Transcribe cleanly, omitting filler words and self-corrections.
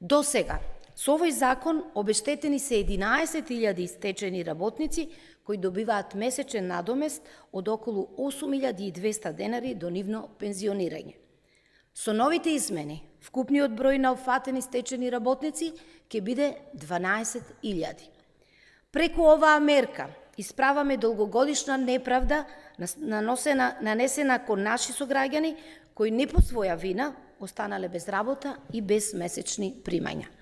До сега, со овој закон обештетени се 11.000 стечени работници кои добиваат месечен надомест од околу 8.200 денари до нивно пензионирање. Со новите измени, вкупниот број на опфатени стечени работници ќе биде 12.000. Преку оваа мерка исправаме долгогодишна неправда нанесена кон наши сограѓани кои не по своја вина останале без работа и без месечни примања.